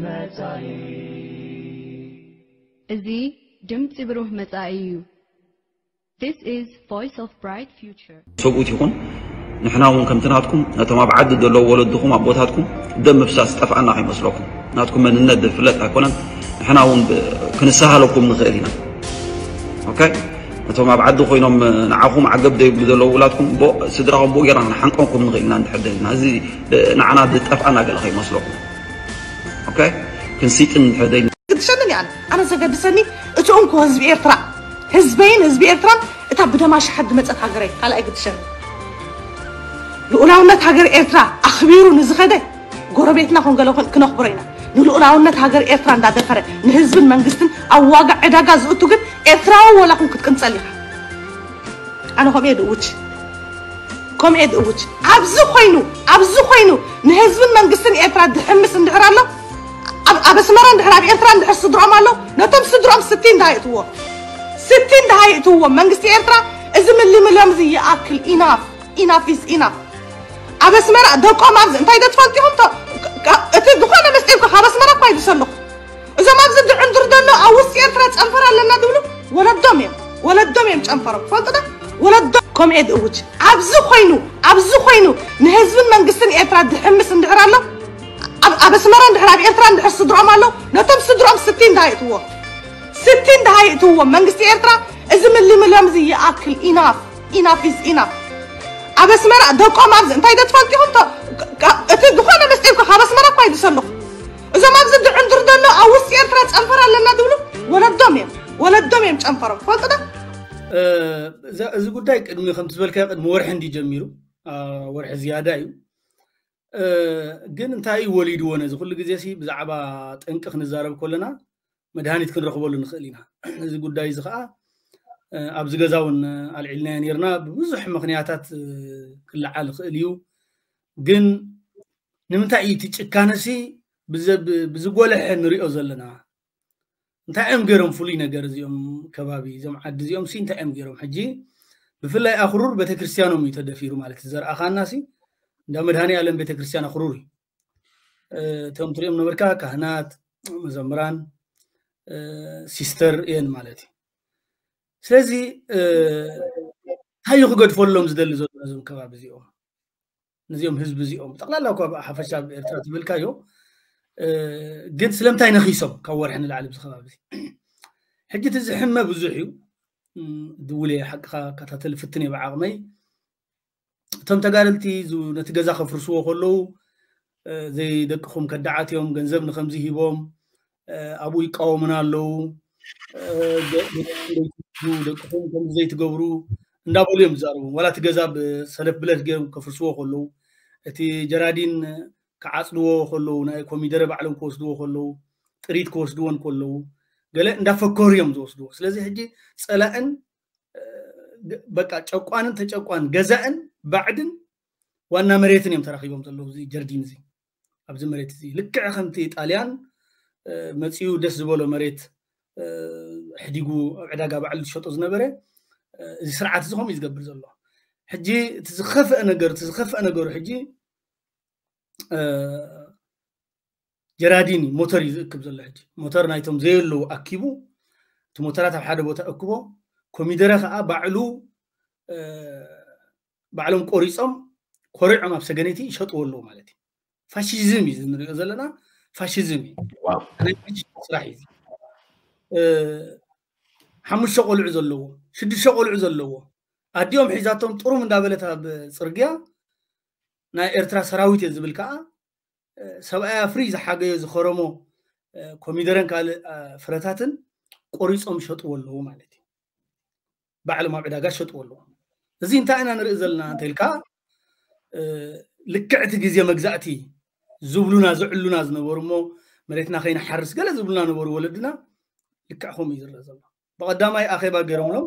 መጻኢ። እዚ ድምጺ ብሩህ መጻኢ እዩ። This is Voice of Bright Future. ሰብኡት ይኹን ንሕና እውን ከምቲ ናትኩም ነቶም ኣብ ዓዲ ዘለዉ ወለድኹም ኣቦታትኩም ደም ምፍሳስ ዝጠፍኣና ከይመስለኩም። ናትኩም መንነት ዝፍለጥ ኣይኮነን። ንሕና እውን ብ- ክንሰሃለኩም ንኽእል ኢና። ኦኬ፣ ነቶም ኣብ ዓዲ ኮይኖም ንዓኹም ዓገብ ዘይብሉ ዘለዉ ውላድኩም ብኡ- ስድራኹም ብኡ ጌርና ክንሓንቀኩም ንኽእል ኢና እንድሕር ደሊና። እዚ ብ- ንዓና ዝጠፍኣና ገለ ከይመስለኩም። ኦኬ፣ ክንስይጥን እንድሕር ደሊና ግድሸንን እያ። ኣነ ዘገድሰኒ እቲ እንኮ ህዝቢ ኤርትራ፣ ህዝበይን ህዝቢ ኤርትራን እታ ብደማ ሽሓት ዝመጸት ሃገረይ ካልኣይ ግድሸኒ። ልኡላውነት ሃገር ኤርትራ ኣኽቢሩ ንዝኸደ ጎረቤትና ኮን ገለ ኮን ክነኽብሮ ኢና። ንልኡላውነት ሃገር ኤርትራ እንዳደፈረ ንህዝብን መንግስትን ኣብ ዋጋ ዕዳጋ ዝእቱ ግን ኤርትራዊ ወላ ኩን ክትቅንጸል ኢኻ። ኣነ ከምኡ እየ ድእውጅ፣ ከምኡ እየ ድእውጅ። ኣብዚ ኮይኑ፣ ኣብዚ ኮይኑ ንህዝብን መንግስትን ኤርትራ ድሕምስ እንድሕር ኣሎ፣ ኣብ ኣብ ኣስመራ እንድሕር ኣብ ኤርትራ እንድሕር ስድሮም ኣሎ፣ ነቶም ስድሮም ስቲን ደሃ ይእትዎ፣ ስቲን ደሃ ይእትዎ። መንግስቲ ኤርትራ እዚ ምልምሎም እዚ ይኣክል። ኢናፍ ኢናፍ ኢዝ ኢናፍ። ኣብ ኣስመራ ደቆም ኣብዚ እንታይ ዶ ትፈልጡ ኢኹም? ቶ- ካ- እቲ ዝኾነ መስጢር እኮ ካብ ኣስመራ እኳ ይድሰሉ። እዞም ኣብዚ ድዕንድር ዘሎ ኣብ ውስጢ ኤርትራ ጨንፈር ኣለና ዝብሉ ወለዶም እዮም፣ ወለዶም እዮም ጨንፈሮም። ትፈልጡ ዶ? ወለዶም ከምኡ እየ ድእውጅ። ኣብዚ ኮይኑ፣ ኣብዚ ኮይኑ ንህዝብን መንግስትን ኤርትራ ድሕምስ እንድሕር ኣሎ፣ ኣብ ኣብ ኣስመራ እንድሕር ኣብ ኤርትራ እንድሕር ስድሮም ኣሎ፣ ነቶም ስድሮም ስቲን ደሃ ይእትዎ፣ ስቲን ደሃ ይእትዎ። መንግስቲ ኤርትራ እዚ ምልምሎም እዚ ይኣክል። ኢናፍ ኢናፍ ኢዝ ኢናፍ። ኣብ ኣስመራ ደቆም ኣብዚ እንታይ ዶ ትፈልጡ ኢኹም? ቶ- ካ- እቲ ዝኾነ መስጢር እኮ ካብ ኣስመራ እኳ ይድሰሉ። እዞም ኣብዚ ድዕንድር ዘሎ ኣብ ውስጢ ኤርትራ ጨንፈር ኣለና ዝብሉ ወለዶም እዮም፣ ወለዶም እዮም ጨንፈሮም። ትፈልጡ ዶ? እ፣ እዛ- እዚ ጉዳይ ቅድሚ ከምቲ ዝበልካዮ ቅድሚ ወርሒ እንዲ ጀሚሩ፣ አ፣ ወርሒ ዝያዳ እዩ። እ፣ ግን እንታይ እዩ ወሊድዎ ነዚ ኩሉ ግዜ ሲ ብዛዕባ ጠንቂ ክንዛረብ ከለና መድሃኒት ክንረኽበሉ ንኽእል ኢና። እዚ ጉዳይ እዚ ከዓ እ፣ ኣብዚ ገዛ እውን ኣልዒልናዮ ነርና። ብብዙሕ ምኽንያታት እ፣ ክለዓል ይኽእል እዩ። ግን ንምንታይ እዩ እቲ ጭካነሲ ብዘ- ብ- ብዝጎለሐ ንሪኦ ዘለና? እንታይ እዮም ገይሮም ፍሉይ ነገር እዚኦም ከባቢ፣ እዞም ዓዲ እዚኦም ሲ እንታይ እዮም ገይሮም? ሕጂ ብፍላይ ኣኽሩር ቤተክርስትያኖም እዩ ተደፊሩ ማለት እዩ። ዘርኣኻና ሲ እንዳ መድሃኔ ዓለም ቤተክርስትያን ኣኽሩር እዩ። እ፣ እቶም ትሪኦም ነበርካ ካህናት፣ መዘምራን፣ እ፣ ሲስተር እየን ማለት እዩ። ስለዚ እ፣ እንታይ እዩ ክገድፈሎም ዝደሊ ዘሎ ነዞም ከባቢ እዚኦም፣ ነዚኦም ህዝቢ እዚኦም ጠቕላላ እኳ ብሓፈሻ ኣብ ኤርትራ ትብልካዮ እ፣ ግን ስለምንታይ ነኺሶም ካብ ወርሒ ንላዕሊ ኣብዚ ከባቢ እዚ? ሕጂ እቲ ዝሕመ ብዙሕ እዩ። እም፣ ድውል እየ ሓቅኻ ከታተል ፍትን እየ ብዓቕመይ። እቶም ተጋደልቲ ዝ- ነቲ ገዛ ከፍርስዎ ከለዉ እ፣ ዘይደቅኹም ከዳዓት እዮም፣ ገንዘብ ንከምዚ ሂቦም እ፣ ኣብኡ ይቃወሙና ኣለዉ እ፣ ደ- ደ- ደቅኹም ከምዚ ዘይትገብሩ እንዳበሉ እዮም ዝዛረቡ። ዋላ እቲ ገዛ ብሰለፍ ብለት ገይሮም ከፍርስዎ ከለዉ እቲ ጀራዲን ክዓፅድዎ ከለዉ ናይ ኮሚደረ ባዕሎም ክወስድዎ ከለዉ ጥሪት ክወስድዎ እንከለዉ ገለ እንዳፈከሩ እዮም ዝወስድዎ። ስለዚ ሕጂ ፀላእን እ፣ በቃ ጨቋንን ተጨቋን ገዛእን ባዕድን ዋና መሬትን እዮም ተራኺቦም ዘለዉ። እዚ ጀርዲን እዚ ኣብዚ መሬት እዚ ልክዕ ከምቲ ጣልያን እ፣ መፂኡ ደስ ዝበሎ መሬት እ፣ ሕዲጉ ኣብ ዕዳጋ ባዕሉ ዝሸጦ ዝነበረ እ፣ እዚ ስርዓት እዚ ከምኡ እዩ ዝገብር ዘሎ። ሕጂ እቲ ዝኸፍአ ነገር እቲ ዝኸፍአ ነገሩ ሕጂ እ፣ ጀራዲን እዩ ሞተር እዩ ዝእክብ ዘሎ። ሕጂ ሞተር ናይቶም ዘየለዉ ኣኪቡ እቲ ሞተራት ኣብ ሓደ ቦታ እክቦ ኮሚደረ ከዓ ባዕሉ እ፣ ባዕሎም ቆሪፆም ኮሪዖም ኣብ ሰገነይቲ ይሸጥዎ ኣለዉ ማለት እዩ። ፋሽዝም እዩ እዚ ንሪኦ ዘለና ፋሽዝም እዩ። ዋው። ናይ ፋሽስት ስራሕ እዩ እዚ። እ፣ ሓሙሽተ ቆልዑ ዘለዎ ሽዱሽተ ቆልዑ ዘለዎ ኣዲኦም ሒዛቶም ጥሩም እንዳበለት ኣብ ፅርግያ ናይ ኤርትራ ሰራዊት እየ ዝብል ከዓ እ፣ ሰብኣያ ፍሪ ዝሓገዮ ዝኸረሞ እ፣ ኮሚደረን ካልእ እ፣ ፍረታትን ቆሪፆም ይሸጥዎ ኣለዉ ማለት እዩ። ባዕሎም ኣብ ዕዳጋ ይሸጥዎ ኣለዉ። እዚ እንታይ ኢና ንርኢ ዘለና እንተኢልካ እ፣ ልክዕ እቲ ግዜ መግዛእቲ ዝብሉና ዝዕሉና ዝነበሩ እሞ መሬትና ከይንሓርስ ገለ ዝብሉና ነበሩ ወለድና። ልክዕ ከምኡ እዩ ዝረአ ዘሎ። ብቐዳማይ ኣኼባ ገይሮምሎም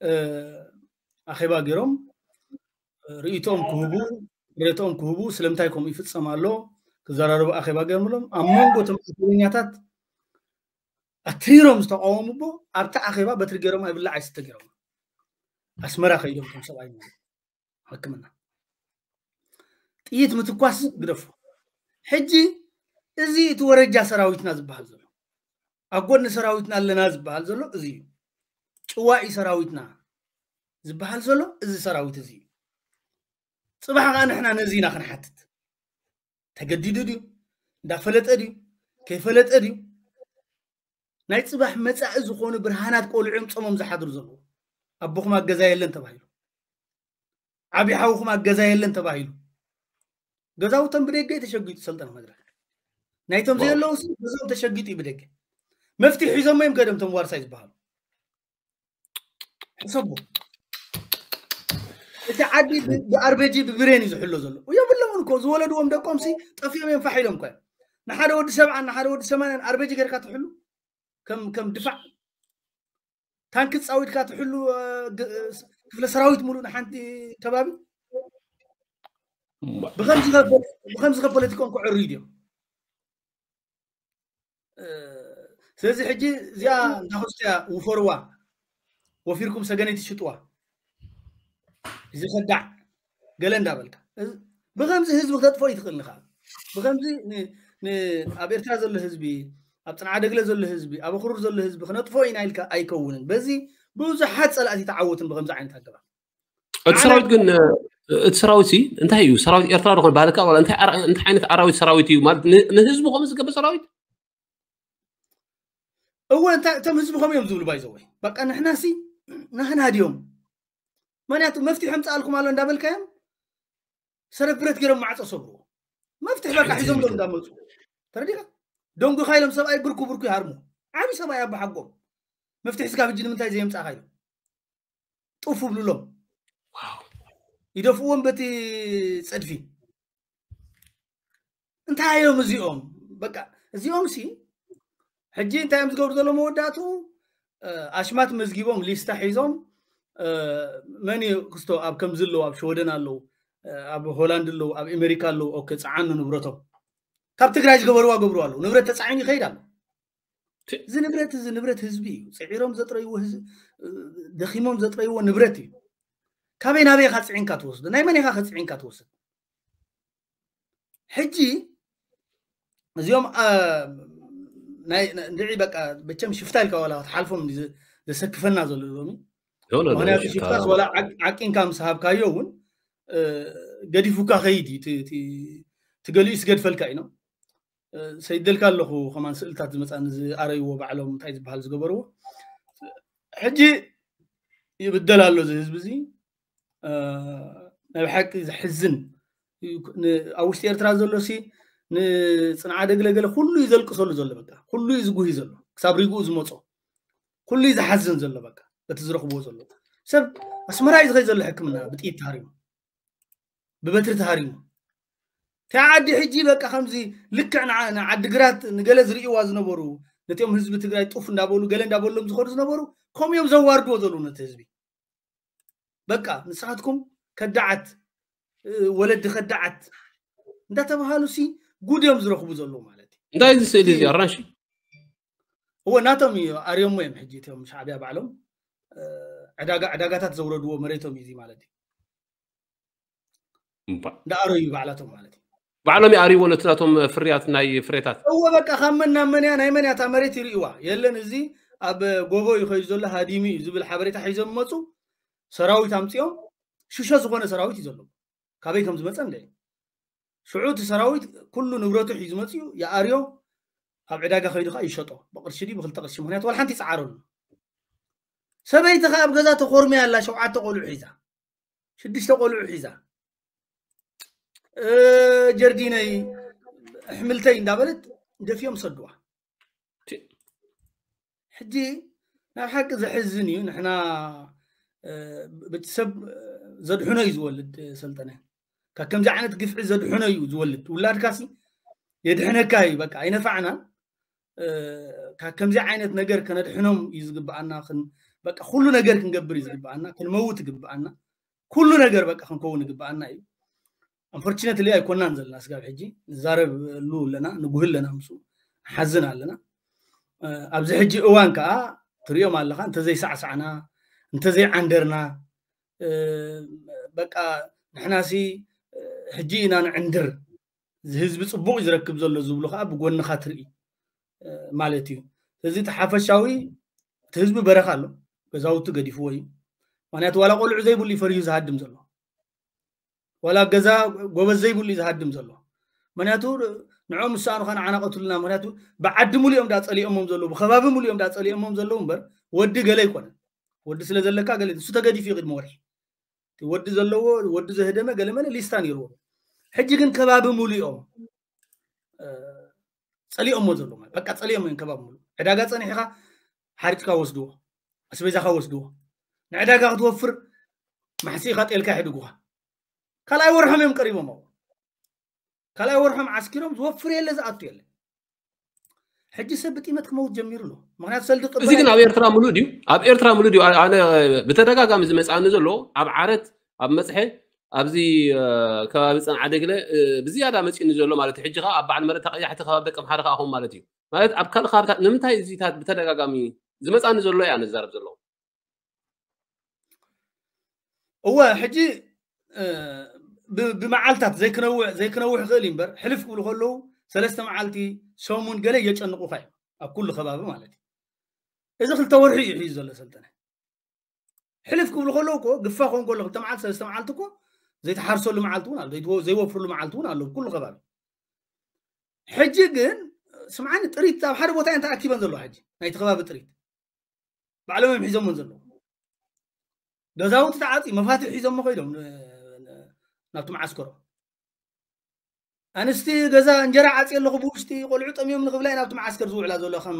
እ፣ ኣኼባ ገይሮም እ፣ ርእይቶኦም ክህቡ ርእይቶኦም ክህቡ ስለምንታይ ከምኡ ይፍጸም ኣሎ ክዘራረቡ ኣኼባ ገይሮምሎም። ኣብ መንጎ እቶም ኣኼበኛታት ኣትሪሮም ዝተቃወሙ እሞ ኣብቲ ኣኼባ በትሪ ገይሮም ኣይብላዕ ኣይስተ ገይሮም ኣስመራ ከይዶም እቶም ሰብኣይ ማለት ሕክምና ጥይት ምትኳስ ግደፉ። ሕጂ እዚ እቲ ወረጃ ሰራዊትና ዝበሃል ዘሎ፣ ኣብ ጎኒ ሰራዊትና ኣለና ዝበሃል ዘሎ እዚ እዩ። ጭዋኢ ሰራዊትና ዝበሃል ዘሎ እዚ ሰራዊት እዚ እዩ። ጽባሕ ከዓ ንሕና ነዚ ኢና ክንሓትት። ተገዲዱ ድዩ? እንዳፈለጠ ድዩ? ከይፈለጠ ድዩ? ናይ ጽባሕ መጻኢ ዝኾኑ ብርሃናት ቆልዑ እዮም ጾሞም ዝሓድሩ ዘለዉ። ኣቦኹም ኣብ ገዛ የለን ተባሂሉ፣ ዓቢ ሓውኹም ኣብ ገዛ የለን ተባሂሉ፣ ገዛውቶም ብደገ እዩ ተሸጊጡ። ሰልጠነ መድረክ ናይቶም ዘየለዉ ሲ ገዛኦም ተሸጊጡ እዩ ብደገ። መፍትሒ ሒዞሞ እዮም ከደም ቶም ዋርሳይ ዝበሃሉ። ሕሰቡ። እቲ ዓዲ ብ- ብኣርቤጂ ብብሬን እዩ ዝሕሎ ዘሎ። የብሎምን እኮ፣ ዝወለድዎም ደቆም ሲ ጠፊኦም እዮም ፋሕ ኢሎም እኮ እዮም። ንሓደ ወዲ ሰብዓን ንሓደ ወዲ ሰማንያን ኣርቤጂ ጌርካ ትሕሉ ከም ከም ድፋዕ ታንክ ጻዊድካ ትሕሉ እ፣ ግ- እ፣ ክፍለ ሰራዊት ሙሉእ ንሓንቲ ከባቢ ብኸምዚ ከ- ብኸምዚ ከ ፖለቲኮም ክዕርዩ ድዮም? እ፣ ስለዚ ሕጂ እዚኣ እንዳኸስቶያ ውፈርዋ፣ ወፊርኩም ሰገነይቲ ሽጥዋ፣ እዚ ከዳዕ ገለ እንዳበልካ እዚ- ብኸምዚ ህዝቢ ክተጥፎ ይትኽእል ንኻ ብኸምዚ ን- ን- ኣብ ኤርትራ ዘሎ ህዝቢ፣ ኣብ ጽንዓ ደግለ ዘሎ ህዝቢ፣ ኣብ ኣኽሩር ዘሎ ህዝቢ ክነጥፎ ኢና ኢልካ ኣይከውንን። በዚ ብዙሓት ጸላእቲ ተዓወትን ብኸምዚ ዓይነት ኣገባብ። እቲ ኣነ- ሰራዊት ግን እ፣ እቲ ሰራዊት ሲ እንታይ እዩ? ሰራዊት ኤርትራ ዝኾነ ባህልካ ዋላ እንታይ ኣራ- እንታይ ዓይነት ኣራዊት ሰራዊት እዩ ማለት ን- ንህዝቡ ከምኡ ዝገብር ሰራዊት? እወ እንታይ እቶም ህዝቢ ከምኡ እዮም ዝብሉ ባይዘወይ። በቃ ንሕና ሲ ናህና ድዮም? ምክንያቱ መፍትሒ ምጻኣልኩም ኣሎ እንዳበልካዮም ሰረፍ ብረት ገይሮም ማዕጾ ሰብርዎ። መፍትሒ በቃ ሒዞም ዶ እንዳመጹ ተረዲኻ? ደንጉኻ ኢሎም ሰብኣይ ብርኩ ብርኩ ይሃርሙ። ዓቢ ሰብኣይ ኣባሓጎም መፍትሒ ስጋብ ሕጂ ንምንታይ ዘየምጻእካ ኢሎም ጡፍ ብሉሎም። ይደፍእዎም በቲ ጸድፊ። እንታይ እዮም እዚኦም? በቃ እዚኦም ሲ ሕጂ እንታይ እዮም ዝገብሩ ዘሎ መወዳእቱ? እ፣ ኣሽማት መዝጊቦም ሊስታ ሒዞም እ፣ መን እዩ ክስቶ ኣብ ከምዚ ኣለዉ፣ ኣብ ሽወደን ኣለዉ፣ እ፣ ኣብ ሆላንድ ኣለዉ፣ ኣብ ኣሜሪካ ኣለዉ። ኦኬ፣ ጸዓኑ ንብረቶም። ካብ ትግራይ ዝገበርዋ ገብሩ ኣለዉ። ንብረት ተጻዒኑ ይኸይድ ኣሎ። እዚ ንብረት እዚ ንብረት ህዝቢ እዩ። ጽዒሮም ዘጥረይዎ ህዝቢ፣ እ፣ ደኺሞም ዘጥረይዎ ንብረት እዩ። ካበይ ናበይ ኢኻ ጽዒንካ ትወስዶ? ናይ መን ኢኻ ከጽዒንካ ትወስድ? ሕጂ እዚኦም አ፣ ናይ ናይ- እንድዒ በቃ መቸም ሽፍታ ኢልካ ዋላ ክትሓልፎም እንዲ ዘ- ዘሰክፈና ዘሎ ሎሚ። ኖ፣ ኖ፣ ኖ፣ ምክንያቱ ሽፍታ ሽፍታስ ዋላ ዓቅ- ዓቂንካ ምስ ሃብካዮ እውን እ፣ ገዲፉካ ከይድ እዩ። እቲ- እቲ- እቲ ገሊኡ ስገድፈልካ እዩ ነው። እ፣ ሰይደልካ ኣለኹ ከማን ስእልታት ዝመፃኒ ዝኣረይዎ ባዕሎም እንታይ ዝበሃል ዝገበርዎ ሕጂ ይብደል ኣሎ እዚ ህዝቢ እዚ። እ፣ ናይ ብሓቂ ዘሕዝን እዩ። ን- ኣብ ውሽጢ ኤርትራ ዘሎ ሲ ንፅንዓ ደግለ ገለ ኩሉ እዩ ዘልቅሰሉ ዘሎ። በቃ ኩሉ እዩ ዝጉሂ ዘሎ ክሳብ ሪግኡ ዝመፆ ኩሉ እዩ ዝሓዝን ዘሎ። በቃ በቲ ዝረኽብዎ ዘሎ ሰብ ኣስመራ እዩ ዝኸይ ዘሎ ሕክምና ብጥይት ተሃሪሙ ብበትሪ ተሃሪሙ። እታ ዓዲ ሕጂ በቃ ከምዚ ልክዕ ንዓ- ንዓዲ ግራት ንገለ ዝርእይዋ ዝነበሩ ነቲኦም ህዝቢ ትግራይ ጡፍ እንዳበሉ ገለ እንዳበሎም ዝኸዱ ዝነበሩ ከምኡ እዮም ዘዋርድዎ ዘለዉ ነቲ ህዝቢ። በቃ ንስኻትኩም ከዳዓት እ፣ ወለዲ ከዳዓት እንዳተባሃሉ ሲ ጉድ እዮም ዝረኽቡ ዘለዉ ማለት እዩ። እንታይ እዚ ስእሊ እዚ ኣራንሺ? እወ ናቶም እዩ ኣርዮሞ እዮም ሕጂ እቶም ሻዕብያ ባዕሎም እ፣ ዕዳጋ ዕዳጋታት ዘውረድዎ መሬቶም እዩ እዚ ማለት እዩ። እምባ። እንዳኣረዩ ባዕላቶም ማለት እዩ። ባዕሎም ይኣርይዎ ነቲ ናቶም ፍርያት ናይ ፍሬታት። እወ በቃ ካብ መን ናብ መን እያ ናይ መን እያ እታ መሬት ይርእይዋ የለን። እዚ ኣብ ጎቦ እዩ ከይዱ ዘሎ ሃዲሙ እዩ ዝብል ሓበሬታ ሒዞም መፁ። ሰራዊት ኣምፂኦም ሽሾ ዝኾነ ሰራዊት እዩ ዘሎ። ካበይ ከም ዝመፀ እንደ ሽዑ እቲ ሰራዊት ኩሉ ንብረቱ ሒዙ መፅኡ ይኣርዮ። ኣብ ዕዳጋ ከይዱ ከዓ ይሸጦ ብቅርሺ ድዩ ብክልተ ቅርሺ። ምክንያቱ ዋላ ሓንቲ ይፀዓረሉ። ሰበይቲ ከዓ ኣብ ገዛ ተኮርሚያ ኣላ ሸውዓተ ቆልዑ ሒዛ ሽዱሽተ ቆልዑ ሒዛ እ፣ ጀርዲነይ ኣሕምልተይ እንዳበለት ደፊኦም ሰድዋ። ሕጂ ናብ ሓቂ ዘሕዝን እዩ። ንሕና እ፣ ቤተሰብ ዘድሕኖ እዩ ዝወልድ ሰልጠነ። ካብ ከምዚ ዓይነት ግፍዒ ዘድሕኖ እዩ ዝወልድ። ውላድካሲ የድሕነካ እዩ። በቃ ኣይነፋዕናን። እ፣ ካብ ከምዚ ዓይነት ነገር ከነድሕኖም እዩ ዝግብኣና። ክን- በቃ ኩሉ ነገር ክንገብር እዩ ዝግብኣና። ክንመውት ይግብኣና። ኩሉ ነገር በቃ ክንከውን ይግብኣና እዩ። ኣንፎርችነትሊ ኣይኮናን ዘለና ስጋብ ሕጂ ንዛረብሉ ኣለና፣ ንጉህ ኣለና፣ ምስ ሓዝን ኣለና። እ፣ ኣብዚ ሕጂ እዋን ከዓ ትሪኦም ኣለኻ እንተዘይሳዕሳዕና እንተዘይዓንደርና እ፣ በቃ ንሕናሲ እ፣ ሕጂ ኢና ንዕንድር። እዚ ህዝቢ ጽቡቕ እዩ ዝረክብ ዘሎ ዝብሉ ከዓ ብጎንኻ ትርኢ ማለት እዩ። ስለዚ እቲ ሓፈሻዊ እቲ ህዝቢ በረኻ ኣሎ፣ ገዛውቲ ገዲፍዎ እዩ። ምክንያቱ ዋላ ቆልዑ ዘይብሉ እዩ ፈሪሁ ዝሃድም ዘሎ፣ ዋላ ገዛ ጎበዝ ዘይብሉ እዩ ዝሃድም ዘሎ። ምክንያቱ ንዖም ዝሰኣኑኻ ንዓና ቀትሉና። ምክንያቱ ብዓዲ ሙሉ እዮም ዳ ጸሊኦሞም ዘለዉ፣ ብከባቢ ሙሉ እዮም ዳ ጸሊኦሞም ዘለዉ እምበር ወዲ ገለ ኣይኮነን። ወዲ ስለ ዘለካ ገለ እሱ ተገዲፉ እዩ ቅድሚ ወርሒ። እቲ ወዲ ዘለዎ ወዲ ዘህደመ ገለ መለ ሊስታ ነይርዎ። ሕጂ ግን ከባቢ ሙሉ እዮም ጸሊኦሞ ዘለዉ ማለት በቃ ጸሊኦም እዮም ከባቢ ሙሉ። ዕዳጋ ጸኒሕኻ ሓሪጥካ ወስድዎ፣ ኣስቤዛኻ ወስድዎ። ንዕዳጋ ክትወፍር ማሕሲእኻ ጤልካ ይሕድጉኻ። ካልኣይ ወርሖም እዮም ቀሪቦም ኣብኡ። ካልኣይ ወርሖም ዓስኪሮም ዝወፍር የለ ዝኣቱ የለ። ሕጂ ሰብ ብጢመት ክመውት ጀሚሩ ኣሎ። ምክንያቱ ሰልዲ እዚ ግን ኣብ ኤርትራ ሙሉእ ድዩ? ኣብ ኤርትራ ሙሉእ ድዩ? ኣነ ብተደጋጋሚ ዝመጽኣኒ ዘሎ ኣብ ዓረት፣ ኣብ መጽሐ፣ ኣብዚ ከባቢ ጸንዓ ደግለ ብዝያዳ መጺኡኒ ዘሎ ማለት እዩ። ሕጂ ከዓ ኣብ በዓል መረታ ቀያሕቲ ከባቢ ደቂ ኣምሓራ ከዓ ኹም ማለት እዩ። ማለት ኣብ ካልእ ከባብታት ንምንታይ እዚታት ብተደጋጋሚ ዝመጽኣኒ ዘሎ እያ ንዛረብ ዘለኹ። እወ ሕጂ ብመዓልታት ዘይክነውሕ ዘይክነውሕ ይኽእል እዩ እምበር ሕልፍ ክብሉ ከለዉ ሰለስተ መዓልቲ ሰሙን ገለ የጨንቑኻ እዮም ኣብ ኩሉ ከባቢ ማለት እዩ። እዚ ክልተ ወርሒ እዩ ሒዙ ዘሎ ሰልጠነ። ሕልፍ ክብሉ ከለዉ እኮ ግፋ ክኾን ከሎ ክልተ መዓልቲ ሰለስተ መዓልቲ እኮ ዘይተሓርሰሉ መዓልቲ እውን ኣሎ፣ ዘይወፍርሉ መዓልቲ እውን ኣሎ ኩሉ ከባቢ። ሕጂ ግን ስምዓኒ ጥሪት ኣብ ሓደ ቦታ እየን ተኣኪበን ዘለዋ ሕጂ ናይቲ ከባቢ ጥሪት ባዕሎም እዮም ሒዞሞን ዘለዉ። ገዛውቲ ተዓፂ መፋትሕ ሒዞሞ ከይዶም ናብቲ መዓስከሮ። ኣንስቲ ገዛ እንጀራ ዓፂ ኣለኹ ብውሽጢ ቆልዑ ጠሚዮም ንክብላ ናብቲ መዓስከር ዝውዕላ ዘሎ ከም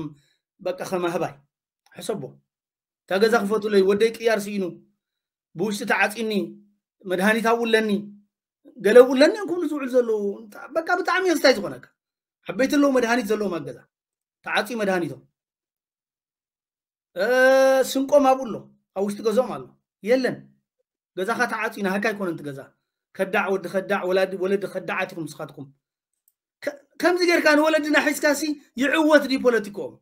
በቃ ከም ኣህባይ ሕሰቦ። እታ ገዛ ክፈቱለይ ወደይ ቅያር ስኢኑ ብውሽጢ ተዓፂኒ መድሃኒት ኣብኡ ኣለኒ ገለ ኣብኡ ኣለኒ እዮም ክብሉ ዝውዕሉ ዘለዉ። በቃ ብጣዕሚ የስታይ ዝኾነካ። ዓበይቲ ኣለዉ መድሃኒት ዘለዎም ኣብ ገዛ ተዓፂ መድሃኒቶም ስንቆም ኣብኡ ኣሎ ኣብ ውሽጢ ገዝኦም ኣሎ የለን። ገዛኻ ተዓፂ ናህካ ኣይኮነን እቲ ገዛ። ከዳዕ ወዲ ከዳዕ ወለዲ ከዳዓት ኢኹም ንስኻትኩም። ከምዚ ጌርካ ንወለድና ሒዝካ ሲ ይዕወት ድዩ ፖለቲክኦም?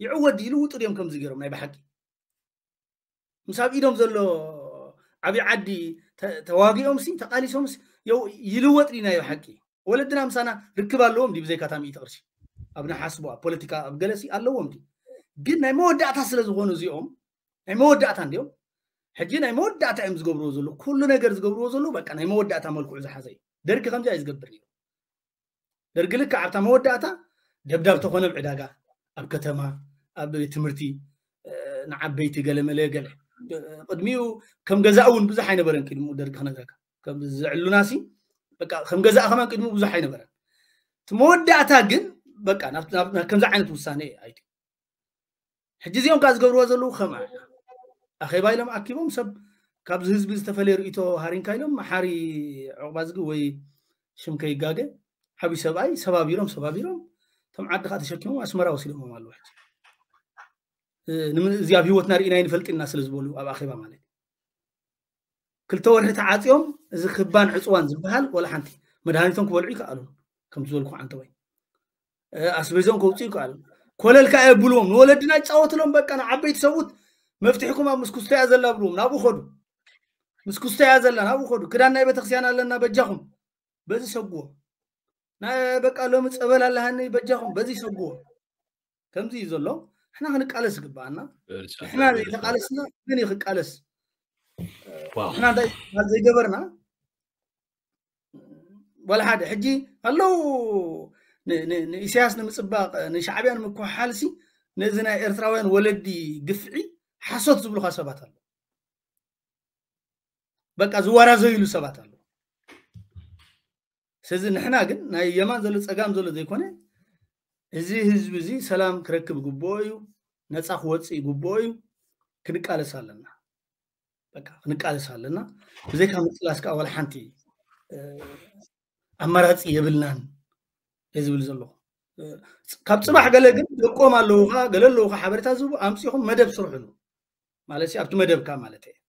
ይዕወት ድዩ? ይልውጡ ድዮም ከምዚ ገይሮም ናይ ብሓቂ? ምስ ኣብ ኢዶም ዘሎ ዓብዪ ዓዲ ተዋጊኦም ሲ ተቃሊሶም ይልወጥ ድዩ ናይ ብሓቂ? ወለድና ምሳና ርክብ ኣለዎም ድዩ ብዘይካ እታ ሚእቲ ቅርሺ? ኣብ ንሓስቦ ኣብ ፖለቲካ ኣብ ገለሲ ኣለዎም ድዩ? ግን ናይ መወዳእታ ስለ ዝኾኑ እዚኦም ናይ መወዳእታ እንዲኦም ሕጂ ናይ መወዳእታ እዮም ዝገብርዎ ዘለዉ። ኩሉ ነገር ዝገብርዎ ዘለዉ በቃ ናይ መወዳእታ መልክዑ ዝሓዘ እዩ። ደርጊ ከምዚ እዩ ዝገብር ነይሩ። ደርጊ ልክዕ ኣብታ መወዳእታ ደብዳብ ተኾነ ኣብ ዕዳጋ፣ ኣብ ከተማ፣ ኣብ ቤት ትምህርቲ ንዓበይቲ ገለ መለ ገለ ቅድሚኡ ከም ገዛ እውን ብዙሕ ኣይነበረን። ቅድሚኡ ደርጊ ክነግረካ ከም ዘዕሉና ሲ በቃ ከም ገዛእ ከማን ቅድሚኡ ብዙሕ ኣይነበረን። እቲ መወዳእታ ግን በቃ ከምዚ ዓይነት ውሳኔ ኣይት ሕጂ እዚኦም ከዓ ዝገብርዎ ዘለዉ ከምኣ ኣኼባ ኢሎም ኣኪቦም ሰብ ካብዚ ህዝቢ ዝተፈለየ ርእቶ ሃሪንካ ኢሎም መሓሪ ዕቑባ ዝግ ወይ ሽም ከይጋገ ዓብዪ ሰብኣይ ሰባቢሮም ሰባቢሮም እቶም ዓዲ ከዓ ተሸኪሞም ኣስመራ ወሲዶሞም ኣለዉ። ሕጂ እዚ ኣብ ህይወትና ርኢና ይንፈልጥ ኢና ስለ ዝበሉ ኣብ ኣኼባ ማለት ክልተ ወርሒ ተዓፅዮም እዚ ክባን ዕፅዋን ዝበሃል ወላ ሓንቲ መድሃኒቶም ክበልዑ ይከኣሉ። ከም ዝበልኩ ዓንተወይ ኣስቤዞም ከውፅኡ ይከኣሉ። ኮለል ከዓ የብልዎም ንወለድና ይጫወትሎም በቃ ንዓበይቲ ሰብኡት መፍትሕኩም ኣብ ምስኩስቶ እያ ዘላ ብልዎም ናብኡ ከዱ። ምስኩስቶ እያ ዘላ ናብኡ ከዱ። ክዳን ናይ ቤተክርስትያን ኣለና በጃኹም በዚ ሰጉዎም። ናይ በቃ ሎሚ ፀበል ኣለሃኒ በጃኹም በዚ ሰጉዎም። ከምዚ እዩ ዘሎ። ንሕና ክንቃለስ ይግበኣና። ንሕና ዘይተቃለስና ግን እዩ ክቃለስ። ንሕና እንታይ ዘይገበርና ወላ ሓደ ሕጂ ኣለዉ ንኢሳያስ ንምፅባቅ ንሻዕብያ ንምክሕሓልሲ ነዚ ናይ ኤርትራውያን ወለዲ ግፍዒ ሓሶት ዝብሉካ ሰባት ኣለዉ። በቃ ዝወራዘይሉ ሰባት ኣለዉ። ስለዚ ንሕና ግን ናይ የማን ዘሎ ፀጋም ዘሎ ዘይኮነ እዚ ህዝቢ እዚ ሰላም ክረክብ ይግብኦ እዩ። ነፃ ክወፅእ ይግብኦ እዩ። ክንቃለስ ኣለና። በቃ ክንቃለስ ኣለና። ብዘይካ ምቅላስ ከዓ ዋላ ሓንቲ ኣማራፂ የብልናን እየ ዝብል ዘለኹ። ካብ ፅባሕ ገለ ግን ደቆም ኣለዉካ ገለ ኣለዉካ ሓበሬታ ዝህቡ ኣምፂኹም መደብ ስርሕሉ ማለት ኣብቲ መደብካ ማለት እየ።